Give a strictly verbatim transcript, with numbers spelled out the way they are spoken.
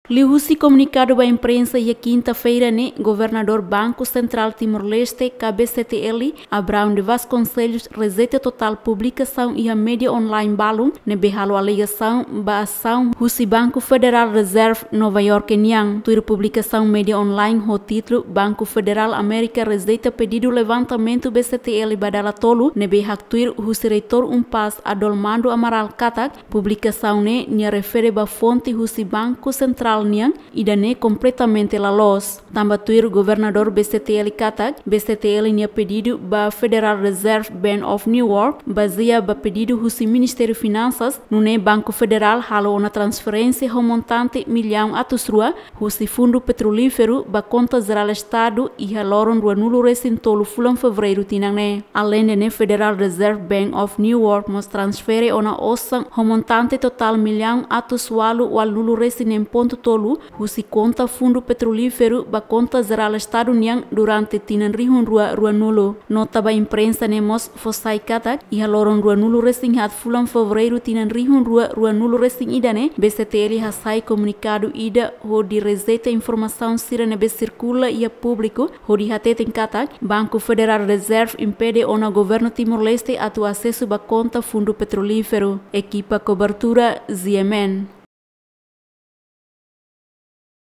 Liuhusi komunikadu ba imprensa iha kinta-feira ne'e, Governadór Banku Sentrál Timor-Leste, K B C T L, Abraão de Vasconcelos, rejeita totál publikasaun iha média online balun ne'ebé halo alegasaun ba asaun husi Banku Federal Reserve Nova Iorke nian. Tuir publikasaun média online ho títulu Banku Federal Amérika rejeita pedidu levantamentu B C T L ba dala tolu ne'ebé haktuir husi Reitór UNPAZ Adolmando Amaral katak publikasaun ne'e nia refere ba fonte husi Banku Sentrál nian, ida-ne'e kompletamente la loos. Tanba tuir Governadór B C T L katak, B C T L nia pedidu ba Federal Reserve Bank of New York bazeia ba pedidu husi Ministériu Finansas, nune'e Banku Federál halo ona transferénsia ho montante millaun atus rua husi Fundu Petrolíferu ba konta jerál Estadu iha loron ruanulu-resin-tolu fulan Fevereiru tinan ne'e. Aleinde ne'e, Federal Reserve Bank of New York mós transfere ona osan ho montante totál millaun atus ualu ualunulu-resin-neen pontu tolu husi konta Fundu Petrolíferu ba konta jerál Estadu nian durante tinan rihun rua ruanulu. Nota ba imprensa ne'e mós fó sai katak, iha loron ruanulu-resin-haat fulan Fevereiru tinan rihun rua ruanulu-resin-ida ne'e, B C T L hasai komunikadu ida hodi rejeita informasaun sira ne'ebé sirkula iha públiku, hodi hateten katak Banku Federal Reserve impede ona Governu Timor-Leste atu asesu ba konta Fundu Petrolíferu. Ekipa kobertura, Z M N.